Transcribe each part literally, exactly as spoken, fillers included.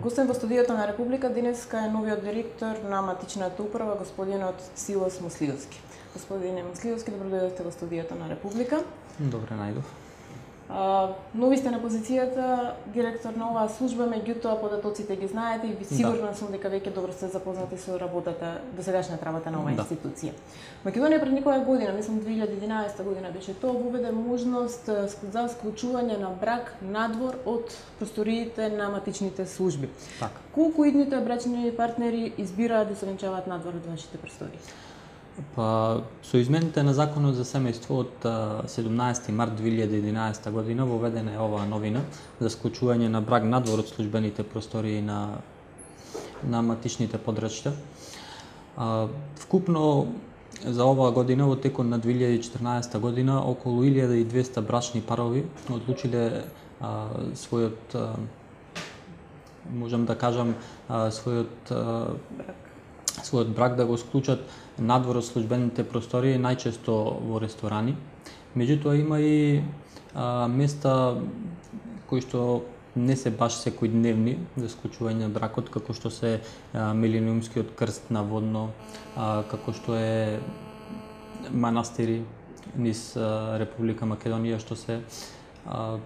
Гостен во студиото на Република денеска е новиот директор на матичната управа, господинот Силос Муслиовски. Господине Муслиовски, добро дојдовте во студиото на Република. Добре најдов. А, нови сте на позицијата директор на оваа служба, меѓутоа податоците ги знаете и ви сигурна сум дека веќе добро сте запознати со работата, досегашната работа на оваа да. институција. Македонија пред некоја година, мислам две илјади и единаесета година беше тоа, воведе можност за склучување на брак надвор од просториите на матичните служби. Така. Колку идните брачни партнери избираат да се венчаваат надвор од вашите простории? Па, со измените на Законот за семејство од седумнаесети март две илјади и единаесета година воведена е оваа новина за склучување на брак надвор од службените простории на на матичните подрачја. Вкупно за оваа година во текот на две илјади и четрнаесета година околу илјада и двесте брачни парови одлучиле а, својот а, можам да кажам а, својот а, Брак. својот брак да го склучат надвор од службените простории, најчесто во ресторани. Меѓутоа има и а, места кои што не се баш секојдневни за склучување на бракот, како што се а, Милениумскиот крст на Водно, а, како што е манастири низ а, Република Македонија, што се а,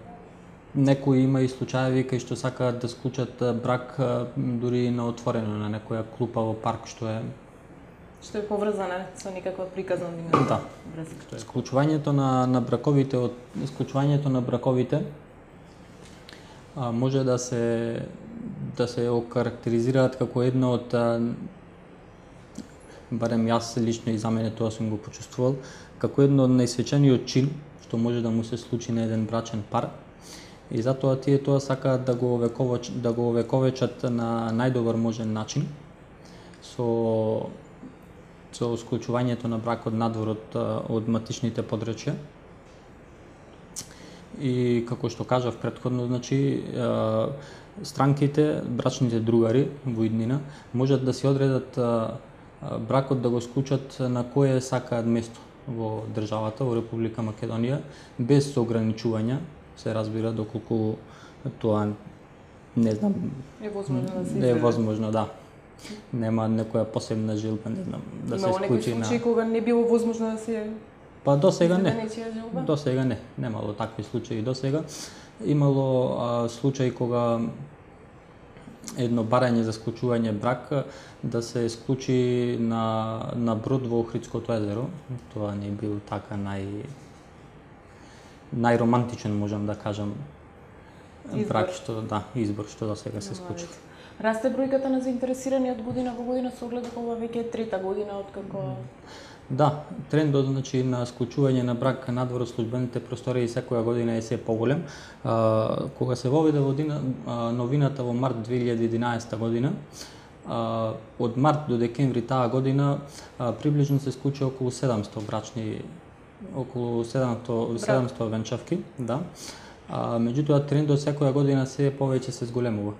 некои има и случаеви кај што сакаат да склучат брак а, дури на отворено на некоја клупа во парк, што е Што е поврзана со некаква приказна врска. Да. Склучувањето на на браковите од склучувањето на браковите а, може да се да се окарактеризираат како едно од а, барем јас лично и за мене тоа сум го почувствувал, како едно од најсвечениот чин што може да му се случи на еден брачен пар. И затоа тие тоа сакаат да го овековечат, да го овековечат на најдобар можен начин со со склучувањето на бракот надвор од, од матичните подрачја. И како што кажав претходно, значи странките, брачните другари во иднина можат да се одредат бракот да го склучат на кое сакаат место во државата, во Република Македонија, без ограничувања, се разбира доколку тоа не знам е возможно да се не е возможно, да. Нема некоја посебна желба, не знам, да се склучи на... Имало некои случаи кога не било возможно да се... Па до сега не. До сега не. Немало такви случаи до сега. Имало а, случаи кога едно барање за склучување брак да се склучи на на брод во Охридското езеро. Тоа не бил така нај најромантичен, можам да кажам, избор. брак што да, избор што до сега се склучи. Расте бројката на заинтересирани од година во година со оглед дека ова веќе е трета година откако... Да, трендот значи на склучување на брак надвор од службените простории секоја година е се поголем. А, кога се воведе во дина, а, новината во март две илјади и единаесета година, а, од март до декември таа година а, приближно се склучи околу седумсто брачни, околу седумсто, седумсто венчавки, да. А, меѓутоа трендот секоја година се повеќе се зголемува.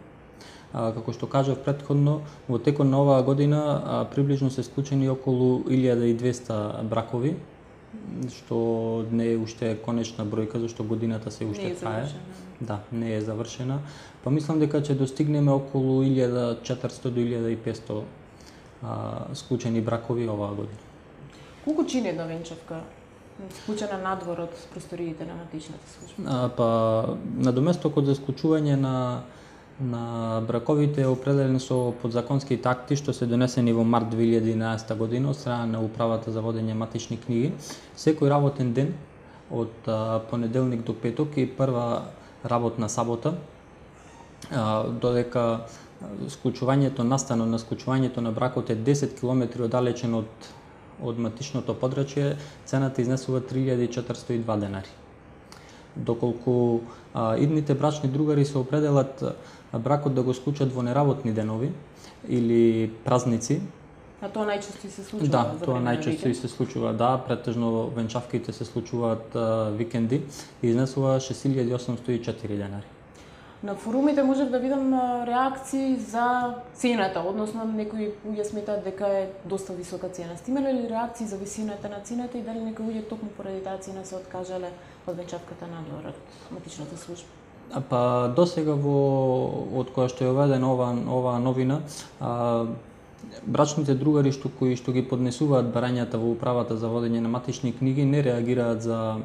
А, како што кажав претходно, во текот на оваа година а, приближно се склучени околу илјада и двесте бракови, што не е уште конечна бројка, зашто годината се уште трае. Да, не е завршена. Па мислам дека ќе достигнеме околу илјада и четиристотини до илјада и петстотини а, склучени бракови оваа година. Колку чини една венчавка склучена надвор од просториите на матичната служба? А, па надоместокот за склучување на на браковите е определен со подзаконските акти што се донесени во март две илјади и единаесета година од страна на Управата за водење матични книги. Секој работен ден од а, понеделник до петок и прва работна сабота, а, додека склучувањето, настанот на склучувањето на бракот е десет километри оддалечен од од матичното подрачје, цената изнесува три илјади и четиристотини и два денари. Доколку а, идните брачни другари се определат а, бракот да го склучат во неработни денови или празници. А тоа најчесто и се случува? Да, за тоа време на најчесто и се случува, да, претежно венчавките се случуваат а, викенди и изнесува шест илјади и осумстотини и четири денари. На форумите можев да видам реакции за цената, односно некои луѓе сметаат дека е доста висока цена. Сте имале ли реакции за висината на цената и дали некои луѓе токму поради таа цена се откажале од венчавката надвор од матичната служба? Па досега во од кога што е уведена ова ова новина, а, брачните другари што кои што ги поднесуваат барањата во управата за водење на матични книги не реагираат за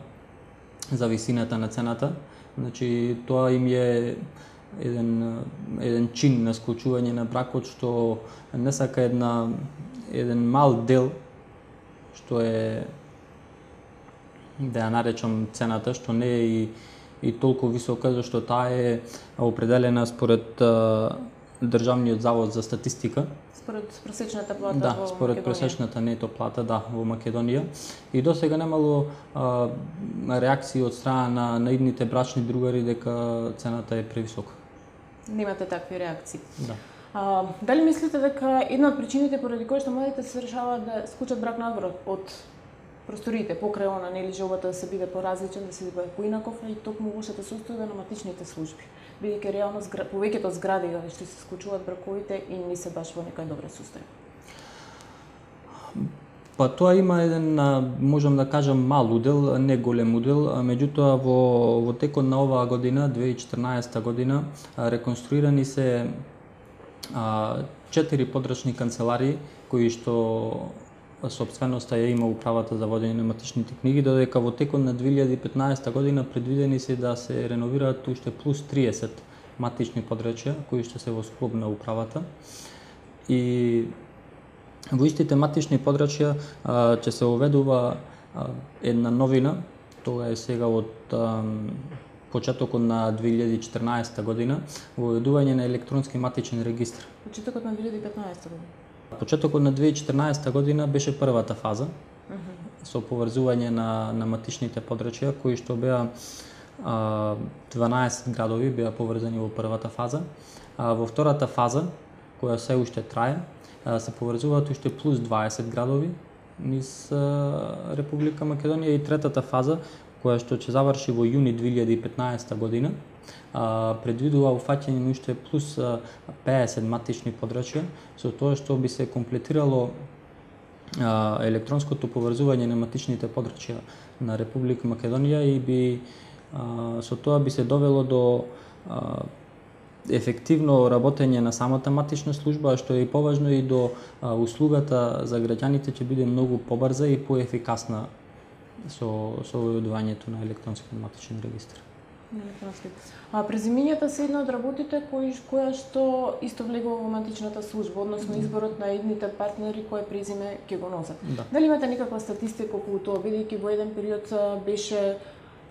за висината на цената. Значи тоа им е еден еден чин на склучување на бракот што не сака една еден мал дел што е, да ја наречам, цената, што не е и и толку висока, зашто таа е определена според а, Државниот завод за статистика. Според просечната плата да, во според Македонија. просечната нето плата, да, во Македонија. И досега немало а, реакции од страна на, на идните брачни другари дека цената е превисока. Немате такви реакции. Да. А, дали мислите дека една од причините поради кои што младите се решаваат да склучат брак надвор од просториите покрај она, нели, желбата да се биде поразличен, да се биде поинаков, и токму лошата состојба на матичните служби, бидејќи реално згра... повеќето згради што се склучуваат браковите и не се баш во некоја добра состојба. Па тоа има еден, можам да кажам, мал удел, не голем удел, меѓутоа во во текот на оваа година, две илјади и четрнаесета година, реконструирани се а, четири подрачни канцеларии кои што сопственоста ја има управата за водење на матичните книги, додека во текот на две илјади и петнаесета година предвидени се да се реновираат уште плюс триесет матични подрачја кои што се во склоп на управата. И во истите матични подрачја а, ќе се уведува а, една новина, тоа е сега од а, почетокот на две илјади и четрнаесета година, во уведување на електронски матичен регистар. Почетокот на две илјади и петнаесета година. Почетокот на две илјади и четрнаесета година беше првата фаза uh -huh. со поврзување на, на матичните подрачја, кои што беа а, дванаесет градови беа поврзани во првата фаза. А, во втората фаза, која се уште трае, а, се поврзуваат уште плюс дваесет градови низ а, Република Македонија, и третата фаза, која што ќе заврши во јуни две илјади и петнаесета година, а, предвидува уфаќање на уште плюс а, пеесет матични подрачја, со тоа што би се комплетирало а, електронското поврзување на матичните подрачја на Република Македонија и би а, со тоа би се довело до а, ефективно работење на самата матична служба, што е и поважно, и до а, услугата за граѓаните ќе биде многу побрза и поефикасна со со уведувањето на електронски матичен регистар. Електронски. А презимињата се една од работите кои која што исто влегува во матичната служба, односно изборот на едните партнери кое презиме ќе го носат. Да. Дали имате некаква статистика околу тоа, бидејќи во еден период беше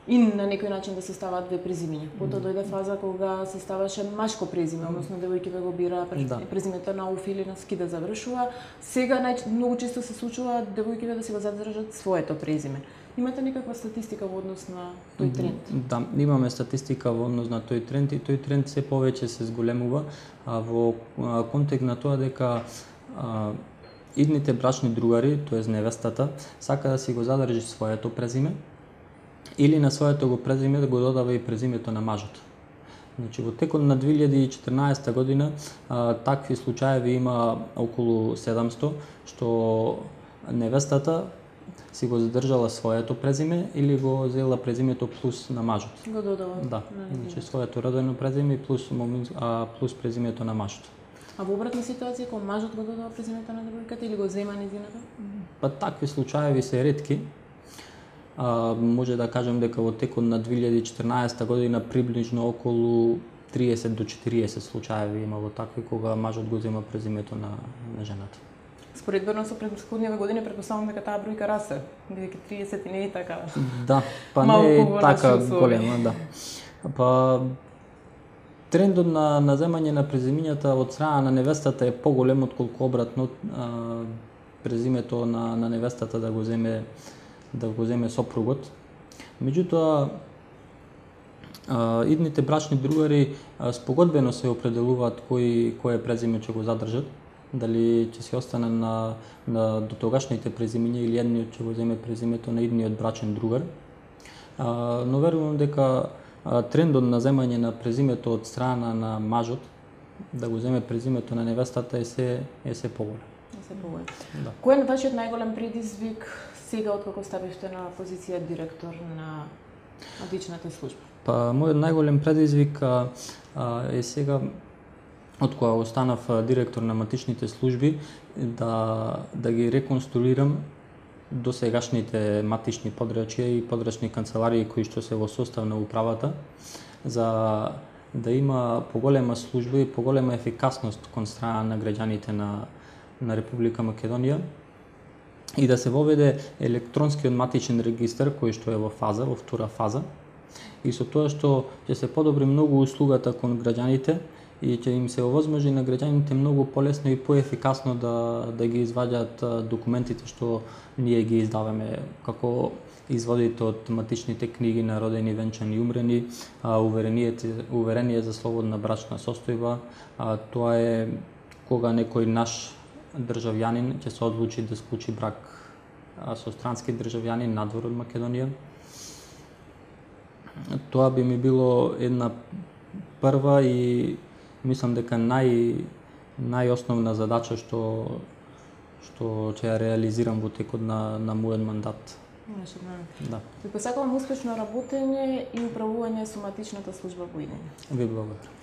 и на некој начин да се ставаат две презимиња. Потоа дојде фаза кога се ставаше машко презиме, односно девојките го бира да. презимето на уф или на ски да завршува. Сега нај многу често се случува девојките да си го задржат своето презиме. Имате некаква статистика во однос на тој тренд? Да, имаме статистика во однос на тој тренд, и тој тренд се повеќе се зголемува а, во а, контекст на тоа дека а, идните брачни другари, тоест невестата, сака да си го задржи своето презиме или на своето го презиме да го додава и презимето на мажот. Значи во текот на две илјади и четрнаесета година а, такви случаеви има околу седумсто, што невестата си го задржала своето презиме или го зела презимето плюс на мажот. Го додава. Да, значи своето родено презиме плюс момент, а плюс презимето на мажот. А во обратна ситуација кога мажот го додава презимето на девојката или го зема нејзината? Па такви случаеви се ретки. А, може да кажем дека во текот на две илјади и четрнаесета година приближно околу триесет до четириесет случаеви имало такви кога мажот го зема презимето на, на жената. Споредбено со претходниве години претпоставувам дека таа бројка расте, бидејќи триесет и не е така. Да, па не е така голема, да. Па трендот на на земање на презимињата од страна на невестата е поголем отколку обратно, а, презимето на на невестата да го земе да го земе сопругот. Меѓутоа а, идните брачни другари а, спогодбено се определуваат кој кое презиме ќе го задржат, дали ќе се остане на на дотогашните презимиња или едниот ќе го земе презимето на идниот брачен другар. А, но верувам дека а, трендот на земање на презимето од страна на мажот да го земе презимето на невестата е се е се поголем. Е се поголем. Да. Кој е вашиот најголем предизвик сега откако ставивте на позиција директор на матичната служба? Па мојот најголем предизвик а, а, е сега, од кога останав директор на матичните служби, да да ги реконструирам досегашните матични подрачја и подрачни канцеларии кои што се во состав на управата, за да има поголема служба и поголема ефикасност кон страна на граѓаните на на Република Македонија и да се воведе електронскиот матичен регистар кој што е во фаза, во втора фаза, и со тоа што ќе се подобри многу услугата кон граѓаните и ќе им се овозможи на граѓаните многу полесно и поефикасно да да ги изваѓаат документите што ние ги издаваме, како изводите од матичните книги на родени, венчани и умрени, уверение за слободна брачна состојба. Тоа е кога некој наш државјанин ќе се одлучи да склучи брак со странски државјанин надвор од Македонија. Тоа би ми било една прва и мислам дека нај најосновна задача што што ќе ја реализирам во текот на на мојот мандат. Да. Ви посакувам успешно работење и управување со матичната служба во идење. Ви благодарам.